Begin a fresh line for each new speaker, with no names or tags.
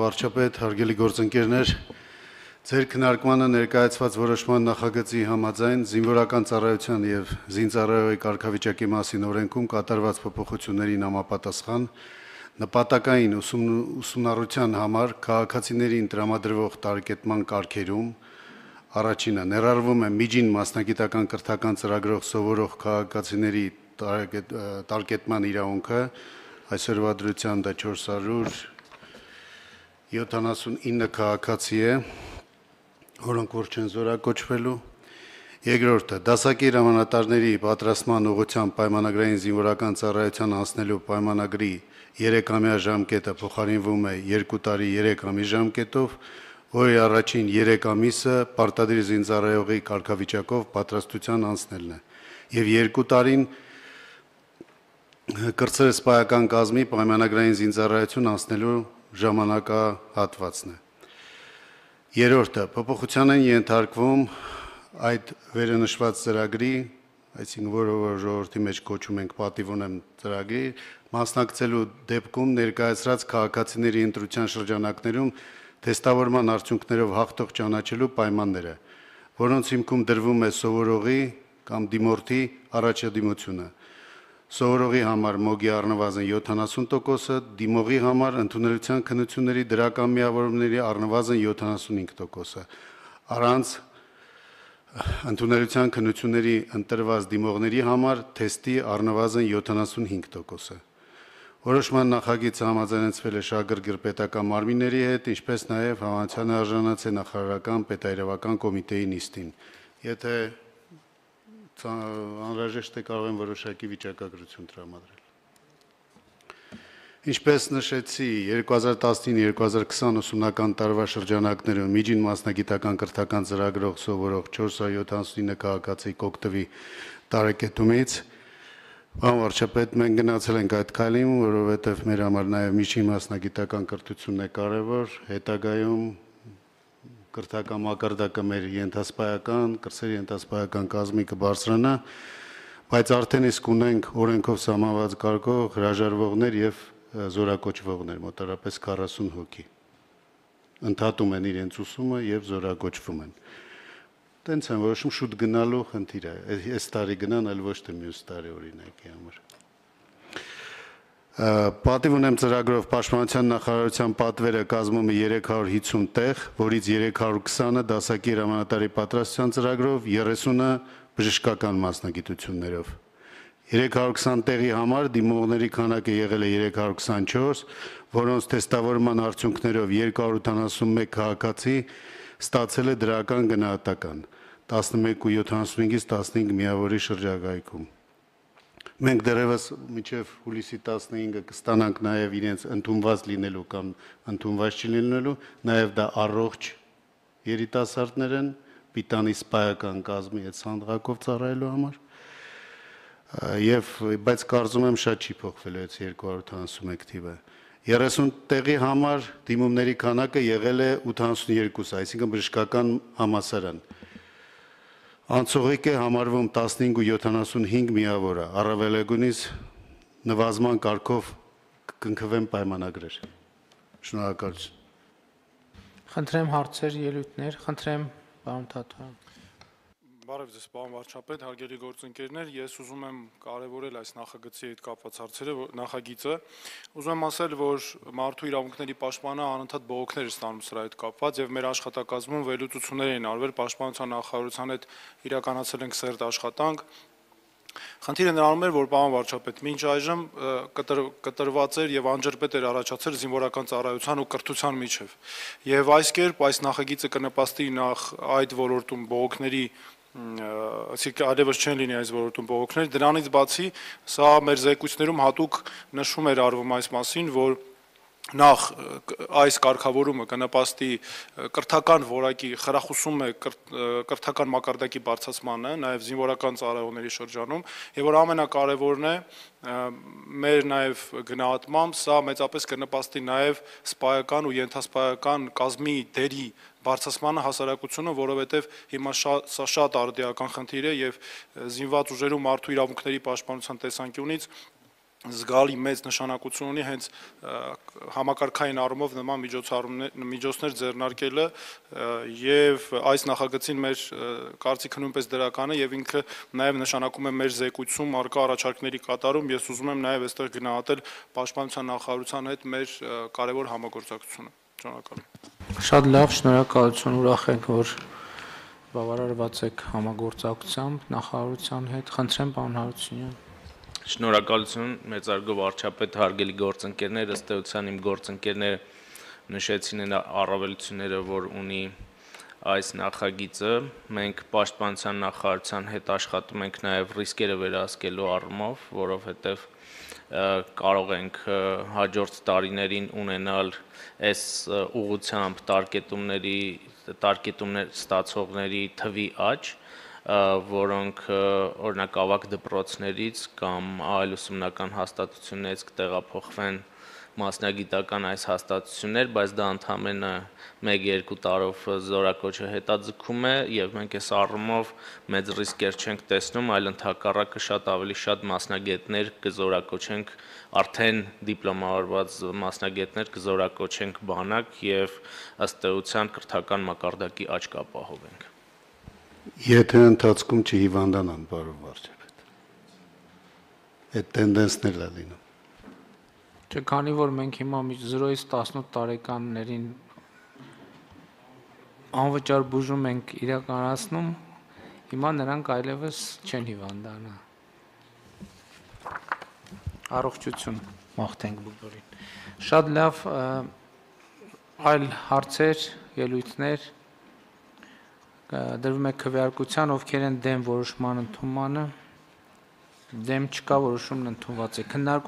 վարչապետ, հարգելի գործընկերներ, ձեր քննարկմանը ներկայացված որոշման նախագծի համաձայն զինվորական ծառայության եւ զինծառայողի կարգավիճակի մասին օրենքում կատարված փոփոխություններին համապատասխան նպատակային ուսումնառության համար քաղաքացիներին տրամադրվող տարեկետման կարգերում առաջինը ներառվում է միջին մասնագիտական կրթական ծրագրով սովորող քաղաքացիների տարեկետման իրավունքը, այսօրվա դրությամբ դա 479 քաղաքացի է, որոնք որ չեն զորակոչվելու։ Երկրորդը դասակի հրամանատարների պատրաստման ուղղությամբ պայմանագրային զինվորական ծառայության անցնելու պայմանագրի 3-ամյա ժամկետը փոխարինվում է 2 տարի 3 ամիս ժամկետով, որի առաջին 3 ամիսը պարտադիր զինծառայողի կարգավիճակով պատրաստության անցնելն է, եւ 2 տարին կրտսեր սպայական կազմի պայմանագրային զինծառայություն անցնելու ժամանակահատվածն է։ Երրորդը փոփոխության են ենթարկվում այդ վերնշված ծրագրի, այսինքն որը ժողովրդի մեջ կոչում ենք պատիվ ունեմ ծրագրի, մասնակցելու դեպքում ներկայացրած քաղաքացիների ընտրության շրջանակներում թեստավորման արդյունքներով հաղթող ճանաչելու պայմանները, որոնց հիմքում դրվում է սովորողի կամ դիմորդի առաջադիմությունը։ Սովորողի համար մոգի առնվազն 70%-ը, դիմողի համար ընդունելության քննությունների դրական միավորումների առնվազն 75%-ը, առանց ընդունելության քննությունների ընտրված դիմողների համար թեստի առնվազն 75%-ը։ Որոշման նախագիծը համաձայնեցվել է շահագրգիռ պետական մարմինների հետ, ինչպես նաև համաձայնության արժանացել նախարարական պետայրավական կոմիտեի նիստին։ Եթե անհրաժեշտ է կարող են որոշակի վիճակագրություն տրամադրել։ Ինչպես նշեցի, 2019-2020 ուսումնական տարվա շրջանակներում միջին մասնագիտական կրթական ծրագրով սովորող 479 քաղաքացի կօգտվի տարեկետումից։ Պարոն վարչապետ, մենք գնացել ենք այդ քայլին, որովհետև մեր համար նաև միջին մասնագիտական կրթությունն է կարևոր, հետագայում կրթական մակարդակը մեր ենթասպայական, կրսեր ենթասպայական կազմի կբարձրանա, բայց արդեն իսկ ունենք օրենքով սահմանված կարգով հրաժարվողներ եւ զորակոչվողներ, մոտավորապես 40 հոգի։ Ընդհատում են իրենց ուսումը եւ զորակոչվում են։ Տենց են որոշում շուտ գնալու խնդիր է, այս տարի գնան, այլ ոչ թե մյուս տարի օրինակի համար։ Պատիվ ունեմ ծրագրով Պաշտպանության նախարարության պատվերը կազմում է 350 տեղ, որից 320-ը դասակի հրամանատարի պատրաստության ծրագրով, 30-ը բժշկական մասնագիտություններով։ 320 տեղի համար դիմողների քանակը եղել է 324, որոնց թեստավորման արդյունքներով 281 քաղաքացի ստացել է դրական գնահատական, 11.75-ից 15 միավորի շրջակայքում։ Մենք դեռևս մինչև հուլիսի 15-ը կստանանք նաև իրենց ընդունված լինելու կամ ընդունված չլինելու, նաև դա առողջ երիտասարդներ են, պիտանի սպայական կազմի այդ սանդղակով ծառայելու համար, բայց կարծում եմ շատ չի փոխվել այս 251 թիվը։ 30 տեղի համար դիմումների քանակը եղել է 82, այսինքն բժշկական համալսարան։ Անցողիկ է համարվում 15.75 միավորը, առավելագույնից նվազման կարգով կընկնվեն պայմանագրեր։ Շնորհակալություն։
Խնդրեմ հարցեր, ելույթներ, խնդրեմ պարոն Թաթոյան։
Բարև ձեզ, պարոն վարչապետ, հարգելի գործընկերներ, ես ուզում եմ կարևորել այս նախագծի հետ կապված հարցերը, նախագիծը։ Ուզում եմ ասել, որ մարդու իրավունքների պաշտպանը անընդհատ բողոքներ է ստանում սրա հետ կապված եւ մեր աշխատակազմում վերլուծություններ են արվել, Պաշտպանության նախարարության հետ իրականացել ենք սերտ աշխատանք։ Խնդիրը նրանում էր, որ պարոն վարչապետ, մինչ այժմ կտրված էր եւ անջրպետ էր առաջացել զինվորական ծառայության ու կրթության միջև։ Եվ այս կերպ այս նախագիծը կնպաստի նախ այդ ոլորտում բողոքների այսինքն այլևս չեն լինի այս ոլորտում բողոքներ, դրանից բացի սա մեր զեկույցներում հատուկ նշում էր արվում այս մասին, որ նախ այս կարգավորումը կնպաստի կրթական որակի խրախուսում է կրթական մակարդակի բարձրացմանը, նաև զինվորական ծառայողների շրջանում, եւ որ ամենակարևորն է մեր նաև գնահատմամբ սա մեծապես կնպաստի նաև սպայական ու ենթասպայական կազմի դերի բարձրացմանը հասարակությունը, որովհետև հիմա սա շատ արդիական խնդիր է եւ զինված ուժերում մարդու իրավունքների պաշտպանության տեսանկյունից զգալի մեծ նշանակություն ունի հենց համակարգային առումով նման միջոցներ ձեռնարկելը եւ այս նախագծին մեր կարծիքը նույնպես դրական է եւ ինքը նաեւ նշանակում է մեր զեկույցում արկա առաջարկների կատարում։ Ես ուզում եմ նաեւ այստեղ գնահատել Պաշտպանության նախարարության հետ մեր կարևոր համագործակցությունը։ Շնորհակալ եմ։
Շատ լավ, շնորհակալություն, ուրախ ենք, որ բավարարված եք համագործակցությամբ նախարարության հետ։ Խնդրեմ, պարոն Հարությունյան։
Շնորհակալություն, մեծարգո վարչապետ, հարգելի գործընկերներ, ըստ էության իմ գործընկերները նշեցին այն առավելությունները, որ ունի այս նախագիծը։ Մենք Պաշտպանության նախարարության հետ աշխատում ենք նաև ռիսկերը վերահսկելու առումով, որովհետև կարող ենք հաջորդ տարիներին ունենալ այս ուղղությամբ տարկետումներ ստացողների թվի աճ, որոնք օրինակ ավագ դպրոցներից կամ այլ ուսումնական հաստատություններից կտեղափոխվեն մասնագիտական այս հաստատություններ, բայց դա ընդամենը 1-2 տարով զորակոչը հետաձգում է եւ մենք այս առումով մեծ ռիսկեր չենք տեսնում, այլ ընդհակառակը շատ ավելի շատ մասնագետներ կզորակոչենք, արդեն դիպլոմավորված մասնագետներ կզորակոչենք բանակ եւ ըստ էության կրթական մակարդակի աճ կապահովենք։
Եթե ընթացքում չհիվանդանան, պարոն վարչապետ, այդ տենդենսներն է լինում։
Չէ, քանի որ մենք հիմա 0-ից 18 տարեկաններին անվճար բուժում ենք իրականացնում, հիմա նրանք այլևս չեն հիվանդանա։ Առողջություն մաղթենք բոլորին։ Շատ լավ, այլ հարցեր, ելույթներ դրվում է քվեարկության, ովքեր են դեմ որոշման ընդունմանը, դեմ չկա, որոշումն ընդունված է։